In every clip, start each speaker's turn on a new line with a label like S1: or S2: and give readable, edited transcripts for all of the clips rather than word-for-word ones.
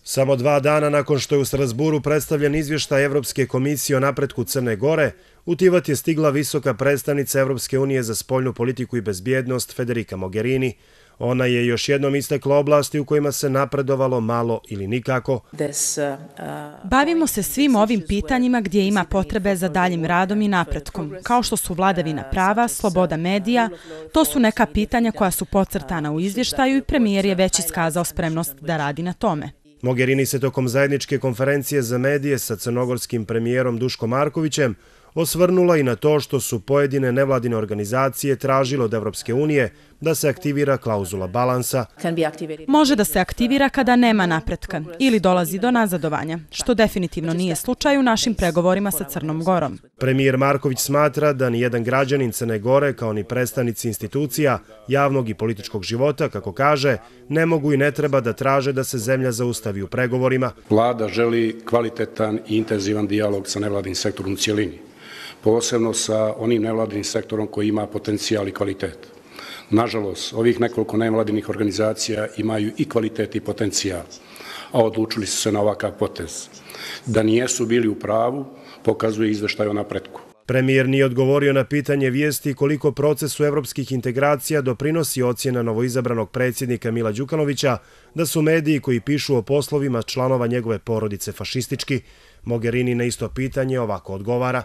S1: Samo 2 dana nakon što je u Strasburu predstavljen izvještaj Evropske komisije o napretku Crne Gore, u Tivat je stigla visoka predstavnica Evropske unije za spoljnu politiku i bezbjednost Federica Mogherini. Ona je još jednom istakla oblasti u kojima se napredovalo malo ili nikako.
S2: Bavimo se svim ovim pitanjima gdje ima potrebe za daljim radom i napretkom, kao što su vladavina prava, sloboda medija. To su neka pitanja koja su podcrtana u izvještaju i premijer je već iskazao spremnost da radi na tome.
S1: Mogherini se tokom zajedničke konferencije za medije sa crnogorskim premijerom Duškom Markovićem osvrnula i na to što su pojedine nevladine organizacije tražile od Evropske unije da se aktivira klauzula balansa.
S2: Može da se aktivira kada nema napretka ili dolazi do nazadovanja, što definitivno nije slučaj u našim pregovorima sa Crnom Gorom.
S1: Premijer Marković smatra da nijedan građanin Crne Gore, kao ni predstavnici institucija, javnog i političkog života, kako kaže, ne mogu i ne treba da traže da se zemlja zaustavi u pregovorima.
S3: Vlada želi kvalitetan i intenzivan dijalog sa nevladinim sektorom u cijelini, posebno sa onim nevladinim sektorom koji ima potencijal i kvalitet. Nažalost, ovih nekoliko nevladinih organizacija imaju i kvalitet i potencijal, a odlučili su se na ovakav potez. Da nijesu bili u pravu, pokazuje izveštaj o napretku.
S1: Premijer nije odgovorio na pitanje vijesti koliko procesu evropskih integracija doprinosi ocjena novoizabranog predsjednika Mila Đukanovića da su mediji koji pišu o poslovima članova njegove porodice fašistički. Mogherini na isto pitanje ovako odgovara.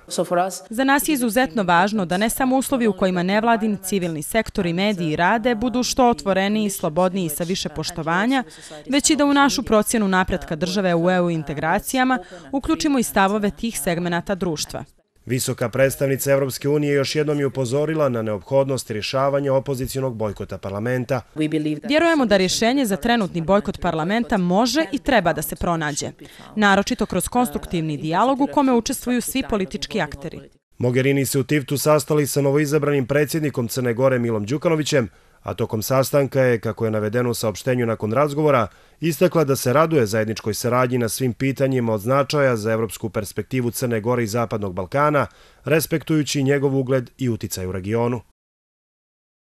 S2: Za nas je izuzetno važno da ne samo uslovi u kojima nevladin, civilni sektor i mediji rade budu što otvoreniji, slobodniji i sa više poštovanja, već i da u našu procjenu napretka države u EU integracijama uključimo i stavove tih segmenata društva.
S1: Visoka predstavnica Evropske unije još jednom je upozorila na neophodnost rješavanja opozicionog bojkota parlamenta.
S2: Vjerujemo da rješenje za trenutni bojkot parlamenta može i treba da se pronađe, naročito kroz konstruktivni dijalog u kome učestvuju svi politički akteri.
S1: Mogherini se u Tivtu sastali sa novoizabranim predsjednikom Crne Gore Milom Đukanovićem, a tokom sastanka je, kako je navedeno u saopštenju nakon razgovora, istakla da se raduje zajedničkoj saradnji na svim pitanjima od značaja za evropsku perspektivu Crne Gore i Zapadnog Balkana, respektujući njegov ugled i uticaj u regionu.